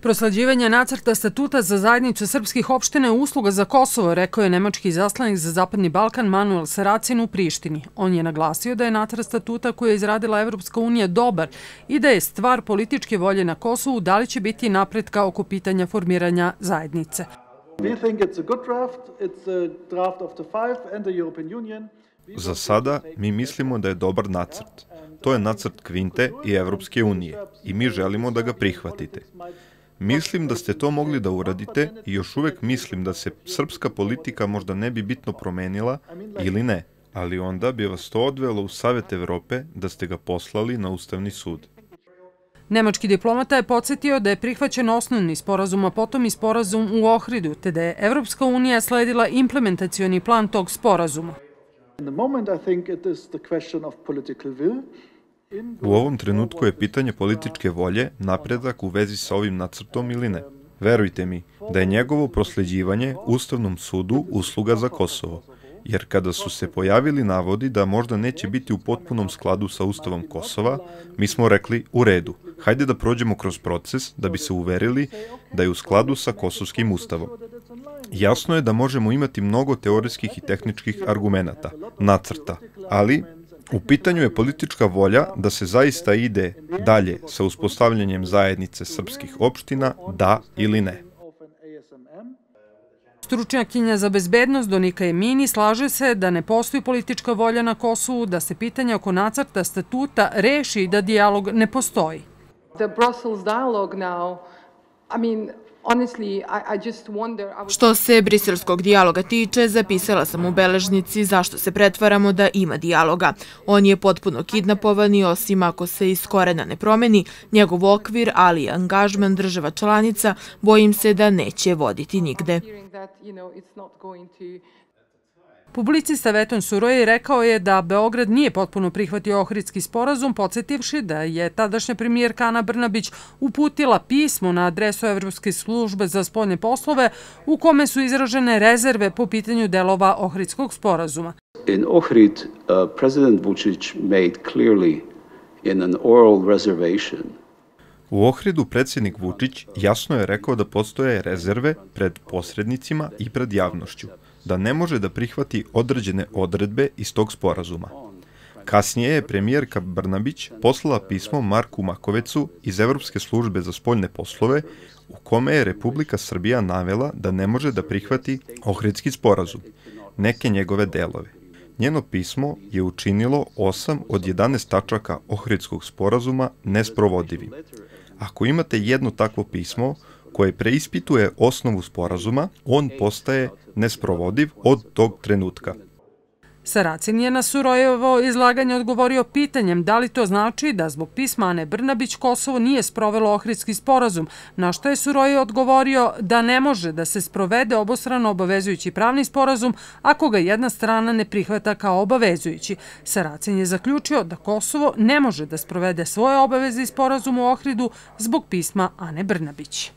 Prosleđivanje nacrta statuta za zajednicu srpskih opština je usluga za Kosovo, rekao je nemački izaslanik za Zapadni Balkan Manuel Saracin u Prištini. On je naglasio da je nacrt statuta koji je izradila Evropska unija dobar i da je stvar političke volje na Kosovu da li će biti napretka oko pitanja formiranja zajednice. Za sada mi mislimo da je dobar nacrt. To je nacrt Kvinte i Evropske unije i mi želimo da ga prihvatite. Mislim da ste to mogli da uradite i još uvek mislim da se srpska politika možda ne bi bitno promenila ili ne, ali onda bi vas to odvelo u Savet Evrope da ste ga poslali na Ustavni sud. Nemački diplomata je podsjetio da je prihvaćen osnovni sporazum, a potom i sporazum u Ohridu, te da je Evropska unija sledila implementacioni plan tog sporazuma. U ovom trenutku je pitanje političke volje, napredak u vezi sa ovim nacrtom ili ne. Verujte mi da je njegovo prosleđivanje Ustavnom sudu usluga za Kosovo, jer kada su se pojavili navodi da možda neće biti u potpunom skladu sa Ustavom Kosova, mi smo rekli u redu, hajde da prođemo kroz proces da bi se uverili da je u skladu sa Kosovskim ustavom. Jasno je da možemo imati mnogo teorijskih i tehničkih argumenata, nacrta, ali u pitanju je politička volja da se zaista ide dalje sa uspostavljanjem zajednice srpskih opština, da ili ne. Stručnjakinja za bezbednost Donika Emini slaže se da ne postoji politička volja na Kosovu, da se pitanje oko nacrta statuta reši i da dijalog ne postoji. Što se briselskog dijaloga tiče, zapisala sam u beležnici zašto se pretvaramo da ima dijaloga. On je potpuno kidnapovan i osim ako se iz korena ne promeni njegov okvir, ali i angažman država članica, bojim se da neće voditi nigde. Publicista Veton Suroj rekao je da Beograd nije potpuno prihvatio Ohridski sporazum, podsjetivši da je tadašnja premijerka Ana Brnabić uputila pismo na adresu Evropske službe za spoljne poslove u kome su izražene rezerve po pitanju delova Ohridskog sporazuma. In Ohrid, President Vučić made clearly in an oral reservation. U Ohridu predsjednik Vučić jasno je rekao da postoje rezerve pred posrednicima i pred javnošću, da ne može da prihvati određene odredbe iz tog sporazuma. Kasnije je premijerka Brnabić poslala pismo Marku Makovecu iz Evropske službe za spoljne poslove u kome je Republika Srbija navela da ne može da prihvati Ohridski sporazum, neke njegove delove. Njeno pismo je učinilo 8 od 11 tačaka Ohridskog sporazuma nesprovodivim. Ako imate jedno takvo pismo koje preispituje osnovu sporazuma, on postaje nesprovodiv od tog trenutka. Saracin je na Surojevo izlaganje odgovorio pitanjem da li to znači da zbog pisma Ane Brnabić Kosovo nije sprovelo Ohridski sporazum, na što je Suroj odgovorio da ne može da se sprovede obostrano obavezujući pravni sporazum ako ga jedna strana ne prihvata kao obavezujući. Saracin je zaključio da Kosovo ne može da sprovede svoje obaveze iz sporazuma u Ohridu zbog pisma Ane Brnabić.